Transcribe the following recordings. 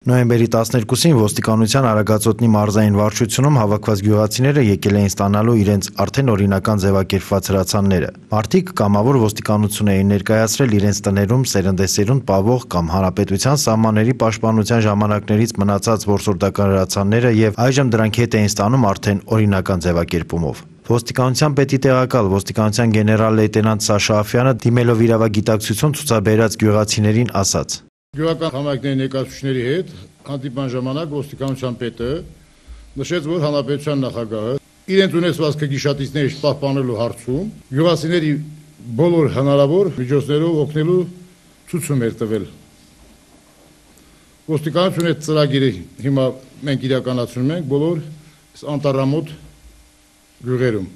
Նոյեմբերի 12-ին ոստիկանության Արագածոտնի մարզային վարչությունում հավաքված գյուղացիները եկել էին ստանալու իրենց արդեն օրինական ձևակերպված հրացանները։ Մարդիկ կամավոր ոստիկանություն էին ներկայացրել իրենց տներում սերնդեսերունդ պահվող կամ հանրապետության սահմանների պաշտպանության ժամանակներից մնացած որսորդական հրացանները եւ այժմ դրանք հետ էին ստանում արդեն օրինական ձևակերպումով։ Ոստիկանության պետի տեղակալ ոստիկանության գեներալ լեյտենանտ Սաշա Աֆյանը դիմելով իրավագիտակցություն ցուցաբերած գյուղացիներին ասաց. Գյուղական համայնքների ներկայացուցիչների հետ հանդիպման ժամանակ ոստիկանության պետը նշեց, որ հանրապետության նախագահը իրենց ունեցվածքը գիշատիցների պահպանելու հարցում գյուղացիների բոլոր հնարավոր միջոցներով օգնելու ցույցում էր տվել։ Ոստիկանությունը այդ ծրագիրը հիմա մենք իրականացնում ենք բոլոր անտառամոտ գյուղերում։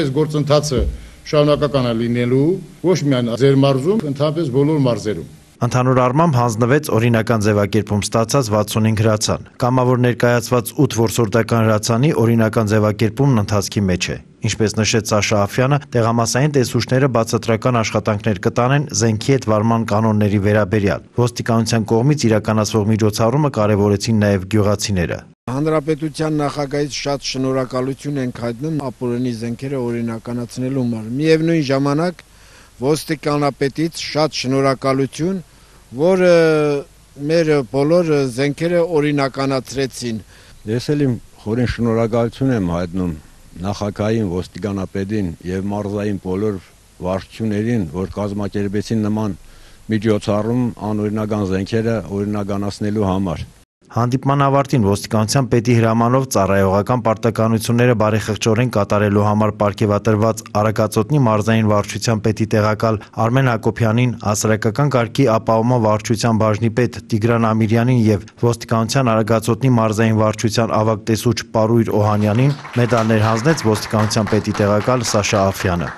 Այս գործընթացը շարունակական է լինելու ոչ միայն ձեր մարզում, ընդհանրապես բոլոր մարզերում։ Ընդհանուր առմամբ հանձնվեց օրինական ձևակերպում ստացած 65 հրացան։ Կամավոր ներկայացված 8 որսորդական հրացանի օրինական ձևակերպումն ընթացքի մեջ է։ Ինչպես նշեց Սաշա Աֆյանը, տեղամասային տեսուչները բացատրական աշխատանքներ կտանեն զենքի հետ վարման կանոնների վերաբերյալ։ Ոստիկանության կողմից իրականացվող միջոցառումը կարևորեցին նաև գյուղացիները։ Հանրապետության նախագահից շատ շնորհակալություն ենք հայտնում ապօրինի զենքերը օրինականացնելու համար։ Միևնույն ժամանակ ոստիկանապետից շատ շնորհակալություն, որ մեր բոլոր զենքերը օրինականացրեցին։ Ես էլ իմ խորին շնորհակալություն եմ հայտնում նախագահին, ոստիկանապետին եւ մարզային բոլոր վարչություններին, որ կազմակերպեցին նման միջոցառում անօրինական զենքերը օրինականացնելու համար։ Հանդիպման ավարտին ոստիկանության պետի հրամանով ծառայողական պարտականությունները բարեխղճորեն կատարելու համար պարգևատրված Արագածոտնի մարզային վարչության պետի տեղակալ Արմեն Հակոբյանին, հասարակական կարգի ապահովման վարչության բաժնի պետ Տիգրան Ամիրյանին եւ ոստիկանության Արագածոտնի մարզային վարչության ավագ տեսուչ Պարույր Օհանյանին մեդալներ հանձնեց ոստիկանության պետի տեղակալ Սաշա Աֆյանը։